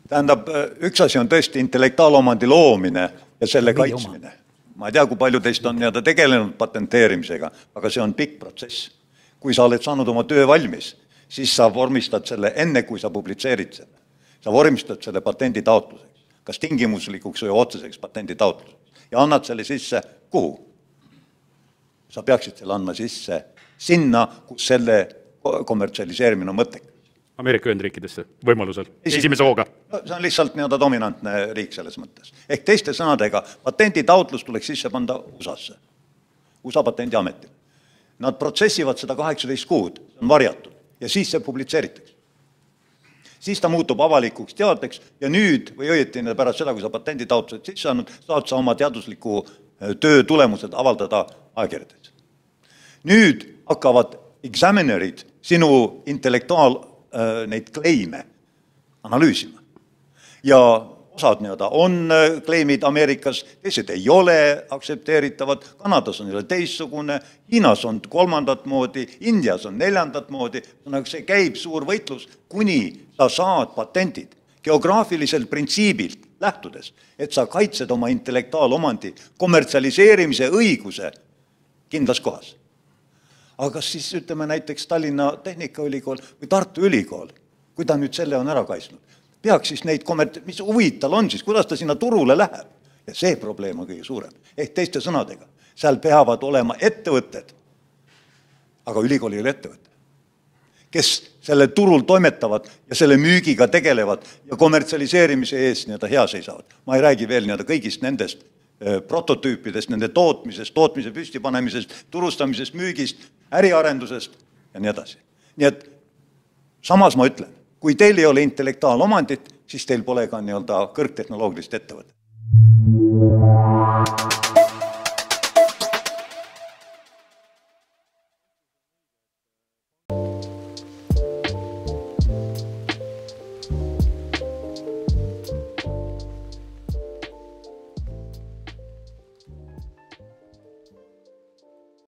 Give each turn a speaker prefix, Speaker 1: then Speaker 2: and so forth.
Speaker 1: Tähendab, üks asi on tõesti intellektuaalomandi loomine ja selle kaitsmine. Ma ei tea, kui palju teist on tegelenud patenteerimisega, aga see on pikk protsess. Kui sa oled saanud oma töö valmis, siis sa vormistad selle enne, kui sa publitseerid selle. Sa vormistad selle patendi taotluseks, kas tingimuslikuks või otseseks patendi taotluseks ja annad selle sisse kuhu? Sa peaksid selle andma sisse sinna, kus selle kommertsialiseerimine on mõttekas.
Speaker 2: Ameerika Ühendriikidesse võimalusel, esimese hooga.
Speaker 1: See on lihtsalt dominantne riik selles mõttes. Ehk teiste sõnadega, patendi taotlus tuleks sisse panda USA-sse, USA patendiametile. Nad protsessivad seda 18 kuud, see on varjatud, ja siis see publitseeritakse. Siis ta muutub avalikuks teadeks ja nüüd, või õieti pärast seda, kui sa patendi taotlused sisse andnud, saad sa oma teadusliku töö tulemused avaldada ajakirjades. Nüüd hakkavad examinerid sinu neid kleime analüüsima. Ja osad on kleimid Ameerikas, teised ei ole aktsepteeritavad, Kanadas on teistsugune, Hiinas on kolmandat moodi, Indias on neljandat moodi, see käib suur võitlus, kuni sa saad patendid geograafilisel printsiibilt lähtudes, et sa kaitsed oma intellektuaalomandi kommertsialiseerimise õiguse kindlas kohas. Aga kas siis ütleme näiteks Tallinna Tehnikaülikool või Tartu Ülikool, kui ta nüüd selle on ära kaitsnud, peaks siis neid mis huvid tal on siis, kuidas ta sinna turule läheb. Ja see probleem on kõige suurem. Ehk teiste sõnadega, seal peavad olema ettevõtted, aga ülikooli ei ole ettevõte, kes selle turul toimetavad ja selle müügiga tegelevad ja kommertsialiseerimise ees hea seisavad. Ma ei räägi veel kõigist nendest prototüüpidest, nende tootmisest, tootmise püstipanemisest, turustamisest, müügist, äriarendusest ja nii edasi. Nii et samas ma ütlen, kui teil ei ole intellektuaalomandit, siis teil pole ka kõrgtehnoloogilist ettevõtet.